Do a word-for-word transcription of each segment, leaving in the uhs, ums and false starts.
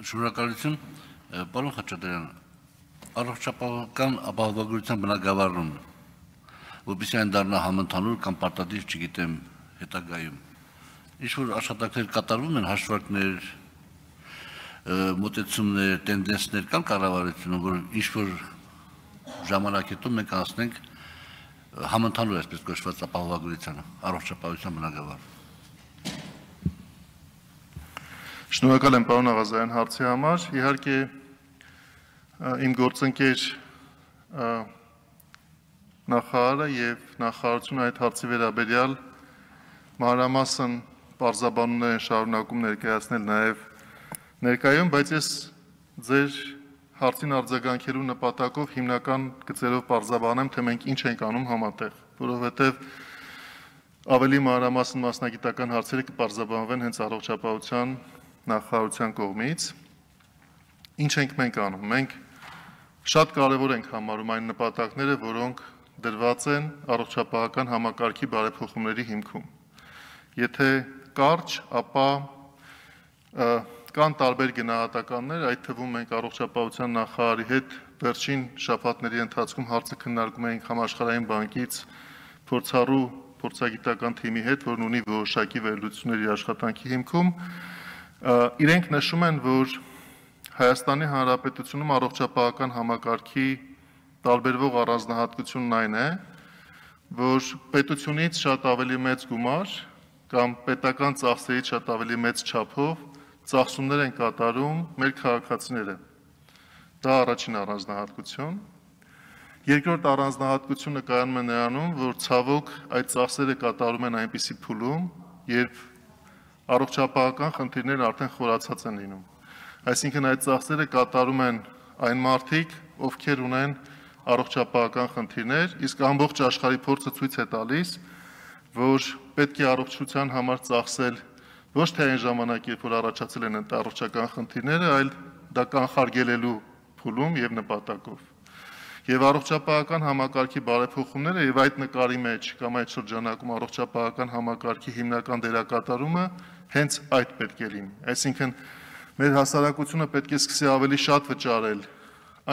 Շնորհակալություն, պարոն Խաչատրյան, առողջապահական ապահովագրության բնագավառում, որպեսզի այն դառնա համընդհանուր կամ պարտադիր, չգիտեմ, հետագայում, ինչ-որ աշխատանքներ կատարվում են, հաշվարկներ, մոտեցումներ, տենդենսներ կան կառավարությունում, որ ինչ-որ ժամանակ հետո մենք անցնենք համընդհանուր այսպես կոչված ապահովագրությանը, առողջապահության բնագավառում։ Շնորհակալ եմ պարոն Աղազարյան հարցի համար, իհարկե իմ գործընկեր նախարարը եւ նախարարությունը այդ հարցի վերաբերյալ մանրամասն պարզաբանումներ են շարունակում ներկայացնել նաեւ ներկայում, բայց ես ձեր հարցին արձագանքելու նպատակով հիմնական գծերով պարզաբանեմ, թե մենք ինչ ենք անում համատեղ, որովհետեւ ավելի մանրամասն մասնագիտական հարցերը կպարզաբանվեն հենց առողջապահության նախարարության կողմից, ինչ ենք մենք անում, մենք շատ կարևոր ենք համարում այն նպատակները, որոնք դրված են առողջապահական համակարգի բարեփոխումների հիմքում, եթե կարճ, ապա կան տարբեր գնահատականներ, այդ թվում մենք առողջապահության նախարարի հետ վերջին շաբաթների ընթացքում հարցը քննարկում էինք համաշխարհային բանկից փորձառու փորձագիտական թիմի հետ, որն ունի որոշակի վերլուծությունների աշխատանքի հիմքում, իրենք նշում են, որ Հայաստանի Հանրապետությունում առողջապահական համակարգի տարբերվող առանձնահատկությունն այն է, որ պետությունից շատ ավելի մեծ գումար կամ պետական ծախսերից շատ ավելի մեծ չափով ծախսումներ են կատարում մեր քաղաքացիները։ Դա առաջին առանձնահատկություն։ Երկրորդ առանձնահատկությունը կայանում է նրանում, որ ցավոք այդ ծախսերը կատարում են այնպիսի փուլում, երբ առողջապահական խնդիրներն արդեն խորացած են լինում։ Այսինքն այդ ծախսերը կատարում են այն մարդիկ, ովքեր ունեն առողջապահական խնդիրներ, իսկ ամբողջ աշխարհի փորձը ցույց է տալիս, որ պետք է առողջության համար ծախսել ոչ թե այն ժամանակ, երբ որ առաջացել են առողջական խնդիրները, այլ դա կանխարգելելու փուլում եւ նպատակով։ Եվ առողջապահական համակարգի բարեփոխումները եւ այդ նկարի մեջ կամ այդ շրջանակում առողջապահական համակարգի հիմնական դերակատարումը հենց այդ պետք է լինի։ Այսինքն մեր հասարակությունը պետք է սկսի ավելի շատ վճարել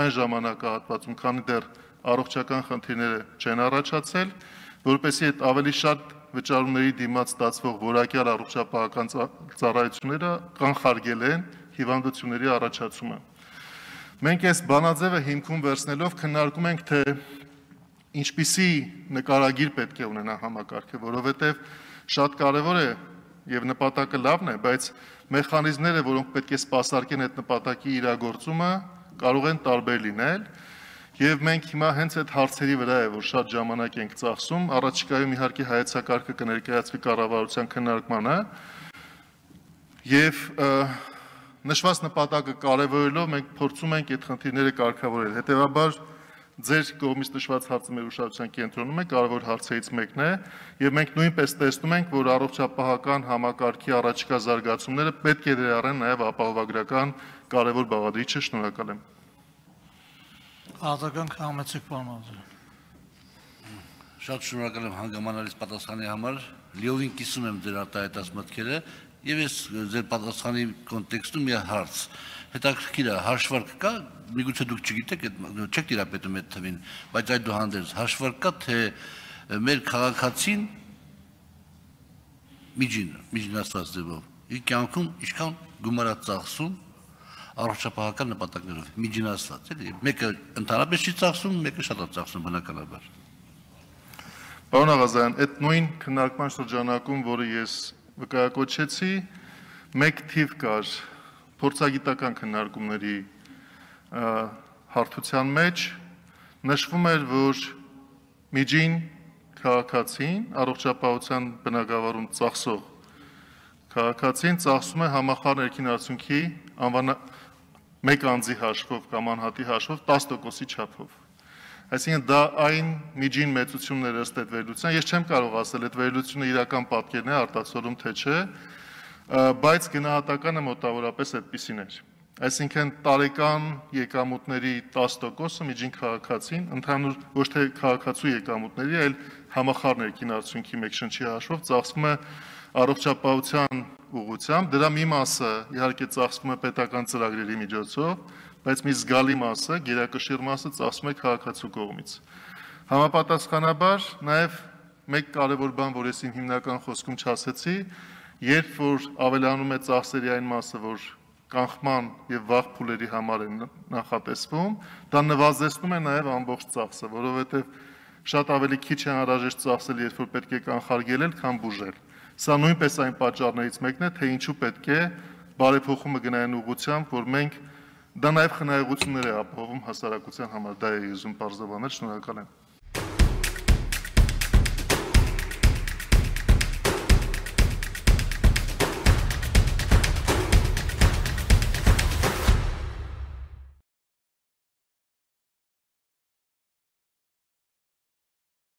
այն ժամանակահատվածում, քանի դեռ առողջական խնդիրները չեն առաջացել, որպեսզի այդ ավելի շատ վճարումների դիմաց ստացվող որակյալ առողջապահական ծառայությունները կանխարգելեն հիվանդությունների առաջացումը։ Մենք այս բանաձևը հիմքում վերցնելով քննարկում ենք, թե ինչպիսի նկարագիր պետք է ունենա համակարգը, որովհետև շատ կարևոր է եւ նպատակը լավն է, բայց մեխանիզմները, որոնք պետք է սպասարկեն այդ նպատակի իրագործումը, կարող են տարբեր լինել, եւ մենք հիմա հենց այդ հարցերի վրա է, որ շատ ժամանակ ենք ծախսում, առաջիկայում իհարկե հայեցակարգը կներկայացվի կառավարության քննարկմանը, եւ նշված նպատակը կարևորելով մենք փորձում ենք այդ խնդիրները կարգավորել։ Հետևաբար ձեր կողմից նշված հարցը մեր ուշադրության կենտրոնում է, կարևոր հարցերից մեկն է, եւ մենք նույնպես տեսնում ենք, որ առողջապահական համակարգի առաջիկա զարգացումները պետք է ներառեն նաեւ ապահովագրական կարևոր բաղադրիչը։ Շնորհակալ եմ։ Արտակարգ համեցեք պարոն Աղազարյան։ Շատ շնորհակալ եմ հանգամանալից պատասխանի համար, լիովին կիսում եմ ձեր արտահայտած մտքերը եւ ես ձեր պատասխանի կոնտեքստում մի հարց։ Հետաքրքիր է, հաշվարկ կա, միգուցե դուք չգիտեք, չեք տիրապետում այդ թվին, բայց այդուհանդերձ հաշվարկ կա, թե մեր քաղաքացին միջին, միջնասված ձևով, իր կյանքում ինչքան գումար է ծախսում առողջապահական նպատակներով, միջինասված, էլի, մեկը ընդհանրապես չի ծախսում, մեկը շատ է ծախսում բնականաբար։ Պարոն Աղազարյան, այդ նույն քննարկման շրջանակում, որը ես վկայակոչեցի, մեկ թիվ կար փորձագիտական քննարկումների հարթության մեջ, նշվում էր, որ միջին քաղաքացին, առողջապահության բնագավառում ծախսող քաղաքացին ծախսում է համախառն ներքին արդյունքի անվան մեկ անձի հաշվով կամ անհատի հաշվով տասը տոկոսի չափով։ Այսինքն դա այն միջին մեծությունն էր ըստ այդ վերլուծության, ես չեմ կարող ասել այդ վերլուծությունը իրական պատկերն է արտացոլում թե չէ, բայց գնահատականը մոտավորապես այդպիսին էր։ Այսինքն տարեկան եկամուտների տասը տոկոսը միջին քաղաքացին, ընդհանուր ոչ թե քաղաքացու եկամուտների, այլ համախառն ներքին արդյունքի մեկ շնչի հաշվով ծախսվում է առողջապահության ուղղությամբ, դրա մի մասը իհարկե ծախսվում է պետական ծրագրերի միջոցով, բայց մի զգալի մասը, գերակշիռ մասը ծախսվում է քաղաքացու կողմից։ Համապատասխանաբար նաև մեկ կարևոր բան, որ ես իմ հիմնական խոսքում չասեցի, երբ որ ավելանում է ծախսերի այն մասը, որ կանխման եւ վաղ փուլերի համար են նախատեսվում, դա նվազեցնում է նաև ամբողջ ծախսը, որովհետեւ շատ ավելի քիչ է անհրաժեշտ ծախսել, երբ որ պետք է կանխարգելել, քան բուժել։ Սա նույնպես այն պատճառներից մեկն է, թե ինչու պետք է բարեփոխումը գնային ուղղությամբ, որ մենք դա նաև խնայողություններ է ապահովում հասարակության համար, դա է ուզում պարզաբանել, շնորհակալ եմ։